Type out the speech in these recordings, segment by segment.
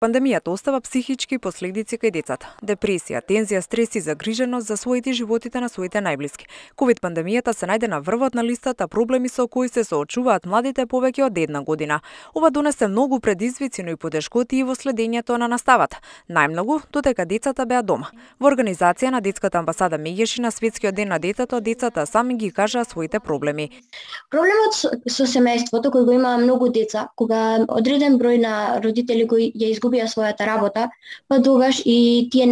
Пандемијата остава психички последици кај децата. Депресија, тензија, стрес и загриженост за своите и животите на своите најблиски. Ковид пандемијата се најде на врвот на листата проблеми со кои се соочуваат младите повеќе од една година. Ова донесе многу предизвици, но и потешкоти и во следењето на наставата. Најмногу додека децата беа дома. Во организација на Детската амбасада Меѓеши на Светскиот ден на детето, децата сами ги кажаа своите проблеми. Проблемот со семејството кој го има многу деца, кога одреден број на родители кои ја изгубија својата работа, па тогаш и тие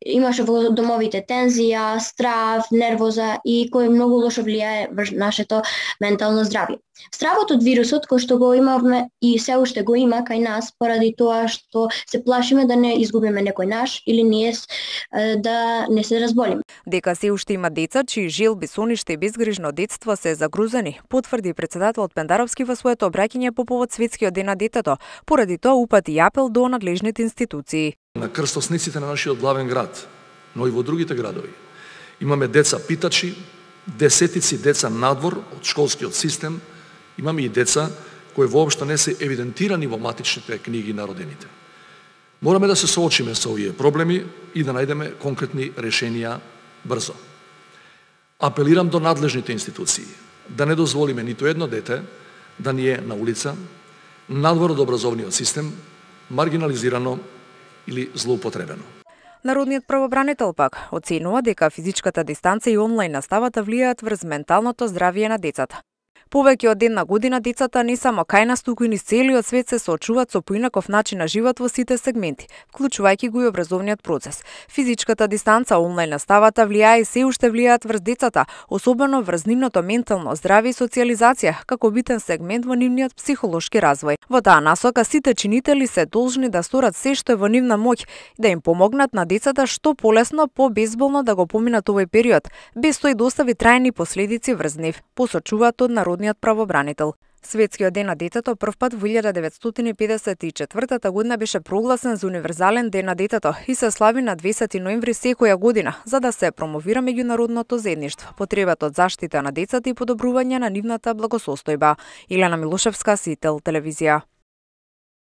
имаше во домовите тензија, страв, нервоза и кој многу лошо влијае врз нашето ментално здравје. Стравот од вирусот кој што го имавме и се уште го има кај нас поради тоа што се плашиме да не изгубиме некој наш или ние да не се разболиме. Дека се уште има деца чии желби, сониште и безгрижно детство се загрузени, потврди председателот Пендаровски во своето обраќање по повод Светскиот ден на детето. Поради тоа упати апел до надлежните институции. На крстосниците на нашиот главен град, но и во другите градови, имаме деца питачи, десетици деца надвор од школскиот систем, имаме и деца кои воопшто не се евидентирани во матичните книги на родените. Мораме да се соочиме со овие проблеми и да најдеме конкретни решенија брзо. Апелирам до надлежните институции да не дозволиме ниту едно дете да ни е на улица, надвор од образовниот систем, маргинализирано или злоупотребено. Народниот правобранител пак оценува дека физичката дистанца и онлайн наставата влијаат врз менталното здравје на децата. Повеќе од една година децата не само кај нас, туку и низ целиот свет се соочуваат со поинаков начин на живот во сите сегменти, вклучувајќи го и образовниот процес. Физичката дистанца, онлайн наставата влијае и се уште влијаат врз децата, особено врз нивното ментално здравје и социјализација, како битен сегмент во нивниот психолошки развој. Во таа насока сите чинители се должни да сторат се што е во нивна моќ, да им помогнат на децата што полесно, побезболно да го поминат овој период, без тој да остави трајни последици врз нив, посочуваат од народниот правобранител. Светскиот ден на детето првпат во 1954 година беше прогласен за универзален ден на детето и се слави на 20 ноември секоја година, за да се промовира меѓународното заедништво, потребата од заштита на децата и подобрување на нивната благосостојба. Илена Милошевска, Сител телевизија.